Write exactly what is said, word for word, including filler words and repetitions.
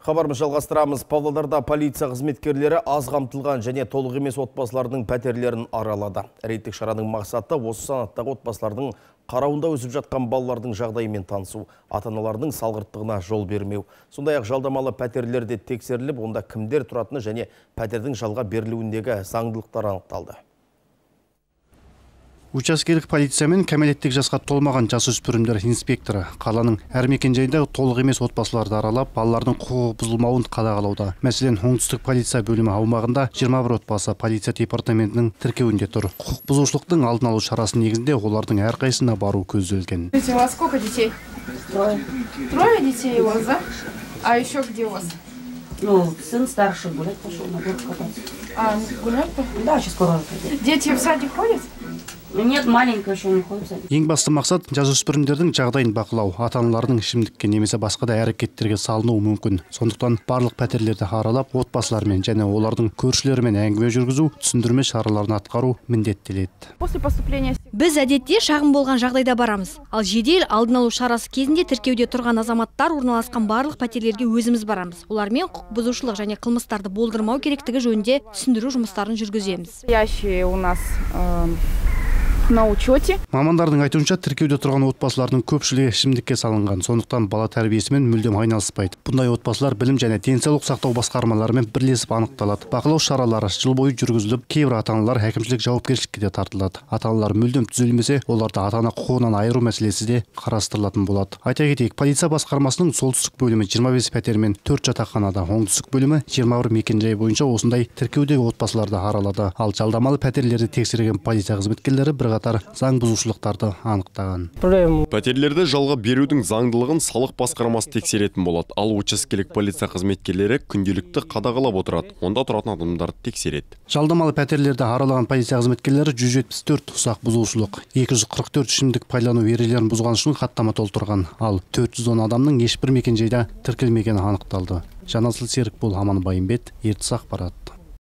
Хабарымыз жалғастырамыз. Павлодарда полиция қызметкерлері аз қамтылған және толық емес отбасылардың пәтерлерін аралады. Рейдтік шараның мақсаты осы санаттағы отбасылардың қарауында өсіп жатқан балалардың жағдайымен танысу, ата-аналардың салғырттығына жол бермеу. Сондай-ақ жалдамалы пәтерлерде тексеріліп, онда кімдер тұратыны және пәтердің жалға берілуіндегі заңдылықтар анықталды. Учаскелік полиция мен кәмелеттік жасқа толмаған жасөспірімдер инспекторы қаланың әр мекенжайында толық емес отбасыларды аралап, балалардың құқығы бұзылмауын қадағалауда. Мәселен, оңтүстік полиция бөлімі аумағында жиырма бір отбасы полиция департаментінің тіркеуінде тұр. Құқық бұзушылықтың алдын алу шарасы негізінде олардың әрқайсысына бару көзделген. У вас сколько детей? Трое. Трое детей у вас, да? А еще где у вас? Ну, сын старший гулять пошел, на горку кататься. А, гулять? Да, сейчас скоро пойдет. Дети в садик ходят? Нет, маленькая еще не ходит. Ең басты мақсат жасөспірімдердің жағдайын бақылау, ата-аналардың ішімдікке немесе басқа да әрекеттерге салынуы мүмкін. Сондықтан барлық пәтерлерді аралап, отбасылармен және олардың көршілерімен әңгіме жүргізу, түсіндірме шараларын атқару міндеттеледі. После поступления Біз әдетте шағым болған жағдайда барамыз. Ал жедел алдын алу шарасы кезінде тіркеуде тұрған азаматтар орналасқан барлық пәтерлерге өзіміз барамыз. Олармен құқық бұзушылық және қылмыстарды болдырмау керектігі жөнінде түсіндіру жұмыстарын жүргіземіз. Ящие у нас э, на учете. Мамандардың айтуынша тіркеуде тұрған отбасылардың көпшілігі ішімдікке салынған, сондықтан бала тәрбиесімен мүлдем айналыспайды. Бұндай отбасылар білім және денсаулық сақтау басқармаларымен бірлесіп анықталады. Бақылау шаралары жыл бойы жүргізіліп, кейбір ата-аналар әкімшілік жауапкершілікке де тартылады. Ата-аналар мүлдем түзелмесе, оларды ата-ана құқығынан айыру мәселесі де қарастырылатын болады. Айта кетейік, полиция басқармасының солтүстік бөлімі жиырма бес пәтер мен төрт жатақханада, оңтүстік бөлімі жиырма бір мекенжай бойынша осындай тіркеудегі отбасыларды аралады. Ал жалдамалы пәтерлерді тексерген полиция қызметкерлері бірқатар заң бұзушылықтарды анықтаған. Пәтерлерді жалға берудің заңдылығын салық басқармасы тексеретін болады. Ал учаскелік полиция қызметкерлері күнделікті қадағалап отырады. Онда тұратын адамдарды тексереді. Жалдамалы пәтерлерді аралаған полиция қызметкерлері жүз жетпіс төрт ұсақ бұзушылық, екі жүз қырық төрт ішімдік пайдалану ережелерін бұзған үшін хаттама толтырған. Ал төрт жүз он адамның ешбір мекенжайда тіркелмегені анықталды. Жанасыл Серікбол, Аман Байымбет, Ертіс ақпарат.